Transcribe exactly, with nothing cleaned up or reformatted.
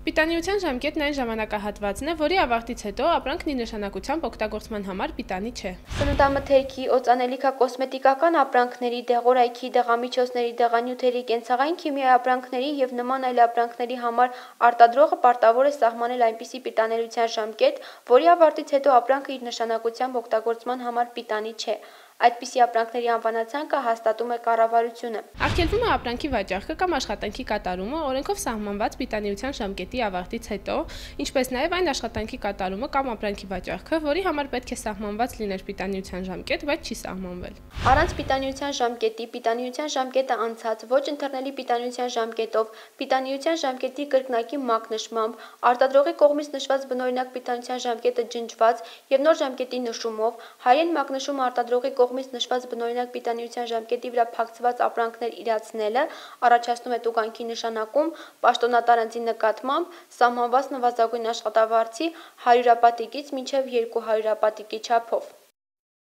Պիտանիության ժամկետն այն ժամանակահատվածն է, որի ավարտից հետո ապրանքն իր նշանակությամբ օգտագործման համար պիտանի չէ։ Սննդամթերքի, օծանելիքակոսմետիկական ապրանքների, դեղորայքի, դեղամիջոցների, դեղանյութերի, կենցաղային քիմիայի ապրանքների և նման այլ ապրանքների համար արտադրողը պարտավոր է սահմանել այնպիսի պիտանելիության ժամկետ, որի ավարտից հետո ապրանքը իր նշանակությամբ օգտագործման համար պիտանի չէ։ Այդպիսի ապրանքների անվանացանկը հաստատում է կառավարությունը։ Արգելվում է ապրանքի վաճառքը կամ աշխատանքի կատարումը օրենքով սահմանված պիտանիության ժամկետի ավարտից հետո, ինչպես նաև այն աշխատանքի կատարումը կամ ապրանքի վաճառքը, որի համար պետք է սահմանված լիներ պիտանիության ժամկետ, բայց չի սահմանվել։ Առանց պիտանիության ժամկետի, պիտանիության ժամկետը անցած, ոչ ընթեռնելի պիտանիության ժամկետով, պիտանիության ժամկետի կրկնակի մակնշմամբ, արտադրողի կողմից նշված բնօրինակ պիտանիության ժամկետը ջնջված և նոր ժամկետի նշումով, հայերեն մակնշումը արտադրողի կողմից նշված բնօրինակ պիտանիության ժամկետի վրա փակցված ապրանքներ իրացնելը առաջացնում է տուգանքի նշանակում պաշտոնատար անձի նկատմամբ սահմանված նվազագույն աշխատավարձի հարյուրապատիկից մինչև երկու հարյուրապատիկի չափով։